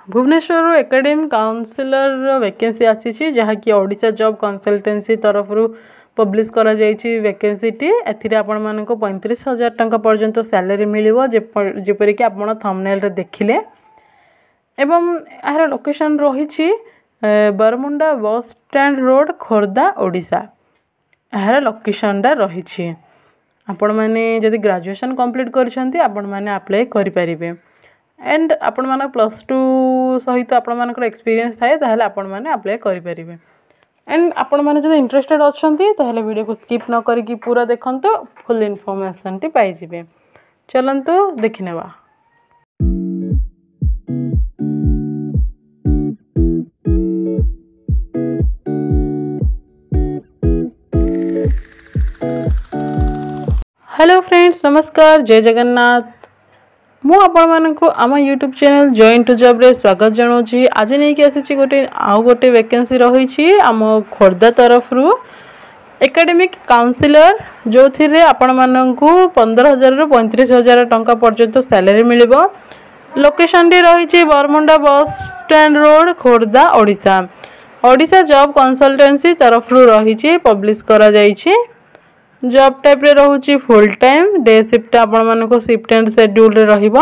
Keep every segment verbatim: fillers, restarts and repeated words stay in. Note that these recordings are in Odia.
ଭୁବନେଶ୍ୱରରୁ ଏକାଡେମିକ୍ କାଉନସିଲରର ଭ୍ୟାକେନ୍ସି ଆସିଛି ଯାହାକି ଓଡ଼ିଶା ଜବ୍ କନସଲଟେନ୍ସି ତରଫରୁ ପବ୍ଲିଶ କରାଯାଇଛି ଭ୍ୟାକେନ୍ସିଟି ଏଥିରେ ଆପଣମାନଙ୍କୁ ପଇଁତିରିଶ ହଜାର ଟଙ୍କା ପର୍ଯ୍ୟନ୍ତ ସ୍ୟାଲେରୀ ମିଳିବ ଯେପରିକି ଆପଣ ଥମ୍ବନେଲ୍ରେ ଦେଖିଲେ ଏବଂ ଏହାର ଲୋକେସନ୍ ରହିଛି Baramunda bus stand road Khordha Odisha ଏହାର ଲୋକେସନ୍ଟା ରହିଛି ଆପଣମାନେ ଯଦି ଗ୍ରାଜୁଏସନ୍ କମ୍ପ୍ଲିଟ୍ କରିଛନ୍ତି ଆପଣମାନେ ଆପ୍ଲାଏ କରିପାରିବେ ଆଣ୍ଡ ଆପଣମାନଙ୍କ ପ୍ଲସ୍ ଟୁ ସହିତ ଆପଣମାନଙ୍କର ଏକ୍ସପିରିଏନ୍ସ ଥାଏ ତାହେଲେ ଆପଣମାନେ ଆପ୍ଲାଏ କରିପାରିବେ ଆଣ୍ଡ ଆପଣମାନେ ଯଦି ଇଣ୍ଟରେଷ୍ଟେଡ଼ ଅଛନ୍ତି ତାହେଲେ ଭିଡ଼ିଓକୁ ସ୍କିପ୍ ନ କରିକି ପୁରା ଦେଖନ୍ତୁ ଫୁଲ୍ ଇନଫର୍ମେସନ୍ଟି ପାଇଯିବେ ଚାଲନ୍ତୁ ଦେଖିନେବା ହ୍ୟାଲୋ ଫ୍ରେଣ୍ଡସ୍ ନମସ୍କାର ଜୟ ଜଗନ୍ନାଥ ମୁଁ ଆପଣମାନଙ୍କୁ ଆମ ୟୁଟ୍ୟୁବ୍ ଚ୍ୟାନେଲ୍ ଜଏନ୍ ଟୁ ଜବ୍ରେ ସ୍ୱାଗତ ଜଣାଉଛି ଆଜି ନେଇକି ଆସିଛି ଗୋଟେ ଆଉ ଗୋଟେ ଭ୍ୟାକେନ୍ସି ରହିଛି ଆମ ଖୋର୍ଦ୍ଧା ତରଫରୁ ଏକାଡେମିକ୍ କାଉନସିଲର ଯେଉଁଥିରେ ଆପଣମାନଙ୍କୁ ପନ୍ଦର ହଜାରରୁ ପଇଁତିରିଶ ହଜାର ଟଙ୍କା ପର୍ଯ୍ୟନ୍ତ ସ୍ୟାଲେରୀ ମିଳିବ ଲୋକେସନ୍ଟି ରହିଛି Baramunda bus stand road Khordha Odisha Odisha job consultancy ତରଫରୁ ରହିଛି ପବ୍ଲିଶ କରାଯାଇଛି ଜବ୍ ଟାଇପ୍ରେ ରହୁଛି ଫୁଲ୍ ଟାଇମ୍ ଡେ ସିଫ୍ଟ ଆପଣମାନଙ୍କୁ ସିଫ୍ଟ ଆଣ୍ଡ ସେଡ୍ୟୁଲ୍ରେ ରହିବ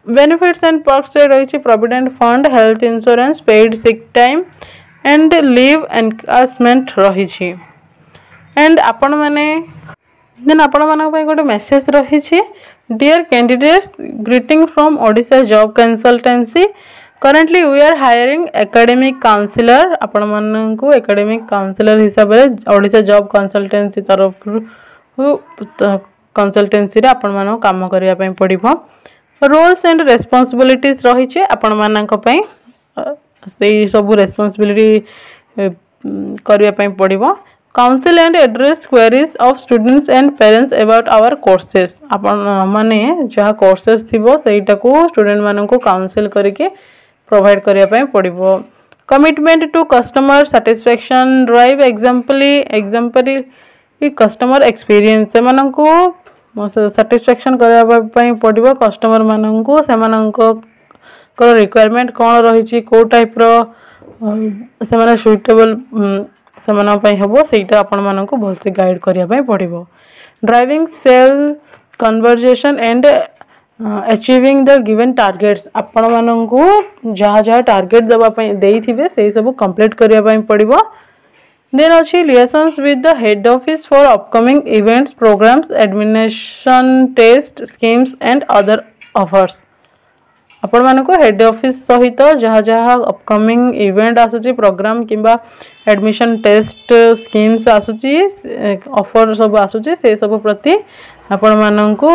ବେନିଫିଟ୍ସ ଆଣ୍ଡ ପର୍କସରେ ରହିଛି provident fund health insurance paid sick time and leave encashment ରହିଛି ଆଣ୍ଡ ଆପଣମାନେ ଦେନ୍ ଆପଣମାନଙ୍କ ପାଇଁ ଗୋଟେ ମେସେଜ୍ ରହିଛି Dear candidates greeting from Odisha Job Consultancy currently we are hiring academic counsellor ଆପଣମାନଙ୍କୁ ଏକାଡେମିକ୍ କାଉନସିଲର ହିସାବରେ ଓଡ଼ିଶା ଜବ୍ କନସଲଟାନ୍ସି ତରଫରୁ କନସଲଟାନ୍ସିରେ ଆପଣମାନଙ୍କୁ କାମ କରିବା ପାଇଁ ପଡ଼ିବ ରୋଲ୍ସ ଆଣ୍ଡ ରେସ୍ପନ୍ସିବିଲିଟିଜ୍ ରହିଛି ଆପଣମାନଙ୍କ ପାଇଁ ସେଇ ସବୁ ରେସ୍ପନ୍ସିବିଲିଟି କରିବା ପାଇଁ ପଡ଼ିବ counsel and address queries of students and parents about our courses ଆପଣ ମାନେ ଯାହା କୋର୍ସେସ୍ ଥିବ ସେଇଟାକୁ ଷ୍ଟୁଡେଣ୍ଟମାନଙ୍କୁ କାଉନସିଲ୍ କରିକି ପ୍ରୋଭାଇଡ଼ କରିବା ପାଇଁ ପଡ଼ିବ commitment to customer satisfaction drive example exemplary customer experience ସେମାନଙ୍କୁ ସାଟିସ୍ଫ୍ୟାକ୍ସନ୍ କରିବା ପାଇଁ ପଡ଼ିବ କଷ୍ଟମରମାନଙ୍କୁ ସେମାନଙ୍କର ରିକ୍ୱାରମେଣ୍ଟ କ'ଣ ରହିଛି କେଉଁ ଟାଇପ୍ର ସେମାନେ ସୁଇଟେବଲ୍ ସେମାନଙ୍କ ପାଇଁ ହେବ ସେଇଟା ଆପଣମାନଙ୍କୁ ଭଲସେ ଗାଇଡ଼ କରିବା ପାଇଁ ପଡ଼ିବ driving sale conversion and achieving the given targets ଆପଣମାନଙ୍କୁ ଯାହା ଯାହା ଟାର୍ଗେଟ୍ ଦେବା ପାଇଁ ଦେଇଥିବେ ସେଇ ସବୁ କମ୍ପ୍ଲିଟ୍ କରିବା ପାଇଁ ପଡ଼ିବ ଦେନ୍ ଅଛି liaisons with the head office for upcoming events programs admission test schemes and other offers ଆପଣମାନଙ୍କୁ ହେଡ଼୍ ଅଫିସ୍ ସହିତ ଯାହା ଯାହା ଅପକମିଂ ଇଭେଣ୍ଟ ଆସୁଛି ପ୍ରୋଗ୍ରାମ୍ କିମ୍ବା ଆଡ଼ମିସନ୍ ଟେଷ୍ଟ ସ୍କିମ୍ସ ଆସୁଛି ଅଫର୍ ସବୁ ଆସୁଛି ସେସବୁ ପ୍ରତି ଆପଣମାନଙ୍କୁ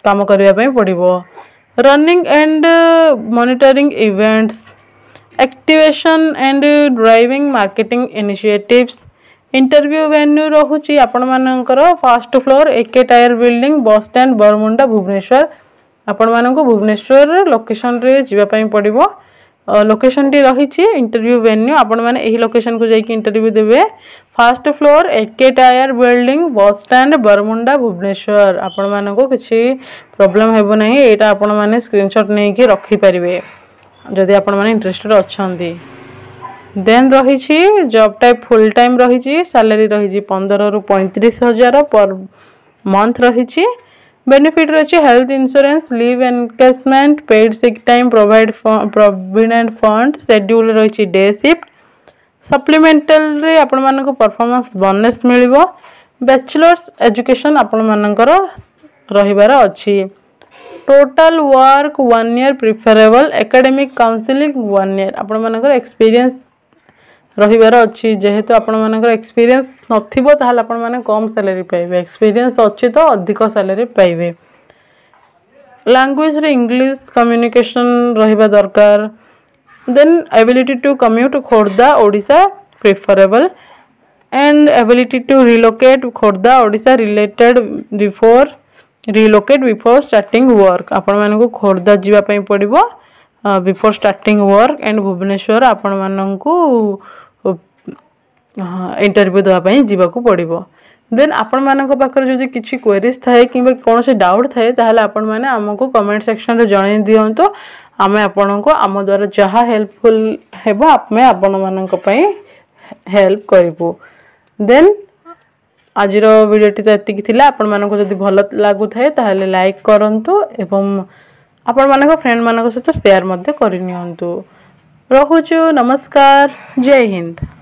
କାମ କରିବା ପାଇଁ ପଡ଼ିବ running and monitoring events activation and driving marketing initiatives interview venue ରହୁଛି ଆପଣମାନଙ୍କର first floor AK Tyre building bus stand Baramunda Bhubaneswar ଆପଣମାନଙ୍କୁ ଭୁବନେଶ୍ୱର ଲୋକେସନ୍ରେ ଯିବା ପାଇଁ ପଡ଼ିବ ଲୋକେସନ୍ଟି ରହିଛି ଇଣ୍ଟରଭ୍ୟୁ ଭେନ୍ୟୁ ଆପଣମାନେ ଏହି ଲୋକେସନ୍କୁ ଯାଇକି ଇଣ୍ଟରଭ୍ୟୁ ଦେବେ first floor AK Tyre building bus stand Baramunda Bhubaneswar ଆପଣମାନଙ୍କୁ କିଛି ପ୍ରୋବ୍ଲେମ୍ ହେବ ନାହିଁ ଏଇଟା ଆପଣମାନେ ସ୍କ୍ରିନସଟ୍ ନେଇକି ରଖିପାରିବେ ଯଦି ଆପଣମାନେ ଇଣ୍ଟରେଷ୍ଟେଡ଼ ଅଛନ୍ତି ଦେନ୍ ରହିଛି ଜବ୍ ଟାଇପ୍ ଫୁଲ୍ ଟାଇମ୍ ରହିଛି ସାଲାରୀ ରହିଛି ପନ୍ଦରରୁ ପଇଁତିରିଶ ହଜାର ପର୍ ମନ୍ଥ ରହିଛି ବେନିଫିଟ୍ ରହିଛି health insurance leave encashment paid sick time provide provident fund schedule ରହିଛି ଡେ ସିଫ୍ଟ ସପ୍ଲିମେଣ୍ଟାଲରେ ଆପଣମାନଙ୍କୁ ପରଫର୍ମାନ୍ସ ବୋନସ୍ ମିଳିବ ବ୍ୟାଚଲର୍ସ ଏଜୁକେସନ୍ ଆପଣମାନଙ୍କର ରହିବାର ଅଛି total work one year preferable academic counselling one year ଆପଣମାନଙ୍କର ଏକ୍ସପିରିଏନ୍ସ ରହିବାର ଅଛି ଯେହେତୁ ଆପଣମାନଙ୍କର ଏକ୍ସପିରିଏନ୍ସ ନଥିବ ତାହେଲେ ଆପଣମାନେ କମ୍ ସାଲାରୀ ପାଇବେ ଏକ୍ସପିରିଏନ୍ସ ଅଛି ତ ଅଧିକ ସାଲାରୀ ପାଇବେ ଲାଙ୍ଗୁଏଜରେ ଇଂଲିଶ କମ୍ୟୁନିକେସନ୍ ରହିବା ଦରକାର then ability to commute Khordha Odisha preferable and ability to relocate Khordha Odisha related before relocate before starting work ଆପଣମାନଙ୍କୁ ଖୋର୍ଦ୍ଧା ଯିବା ପାଇଁ ପଡ଼ିବ before starting work and Bhubaneswar ଆପଣମାନଙ୍କୁ ଇଣ୍ଟରଭ୍ୟୁ ଦେବା ପାଇଁ ଯିବାକୁ ପଡ଼ିବ ଦେନ୍ ଆପଣମାନଙ୍କ ପାଖରେ ଯଦି କିଛି କ୍ୱେରିଜ୍ ଥାଏ କିମ୍ବା କୌଣସି ଡାଉଟ୍ ଥାଏ ତାହେଲେ ଆପଣମାନେ ଆମକୁ କମେଣ୍ଟ ସେକ୍ସନରେ ଜଣାଇ ଦିଅନ୍ତୁ ଆମେ ଆପଣଙ୍କୁ ଆମ ଦ୍ୱାରା ଯାହା ହେଲ୍ପଫୁଲ୍ ହେବ ଆମେ ଆପଣମାନଙ୍କ ପାଇଁ ହେଲ୍ପ କରିବୁ ଦେନ୍ ଆଜିର ଭିଡ଼ିଓଟି ତ ଏତିକି ଥିଲା ଆପଣମାନଙ୍କୁ ଯଦି ଭଲ ଲାଗୁଥାଏ ତାହେଲେ ଲାଇକ୍ କରନ୍ତୁ ଏବଂ ଆପଣମାନଙ୍କ ଫ୍ରେଣ୍ଡମାନଙ୍କ ସହିତ ସେୟାର ମଧ୍ୟ କରିନିଅନ୍ତୁ ରହୁଛୁ ନମସ୍କାର ଜୟ ହିନ୍ଦ